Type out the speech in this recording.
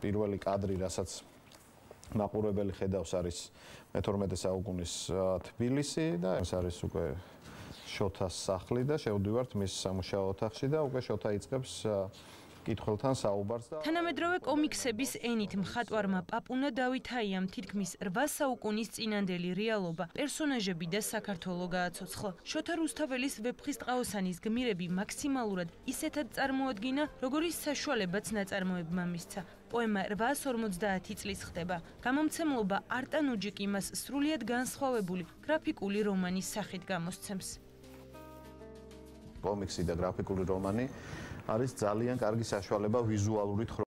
პირველი კადრი, რასაც მაყურებელი ხედავს, არის მე-12 საუკუნის თბილისი და ეს არის უკვე შოთას სახლი და შევდივართ მის სამუშაო ოთახში და უკვე შოთა იწყებს კითხველთან საუბარს და თანამედროვე კომიქსების ენით მხატვარმა პაპუნა დავითაიამ თითქმის 8 საუკუნის წინანდელი რეალობა, პერსონაჟები და საქართველო გააცოცხლა. შოთა რუსთაველის ვეფხისტყაოსანის გმირები მაქსიმალურად ისეთად წარმოადგინა, როგორიც საშუალებაც ნაწარმოებმა მისცა. პოემა 850 წლის ხდება. გამომცემლობა არტანუჯიკი მას სრულიად განსხვავებული გრაფიკული რომანის სახით გამოსცემს. კომიქსი და გრაფიკული რომანი არის ძალიან კარგი საშუალება ვიზუალური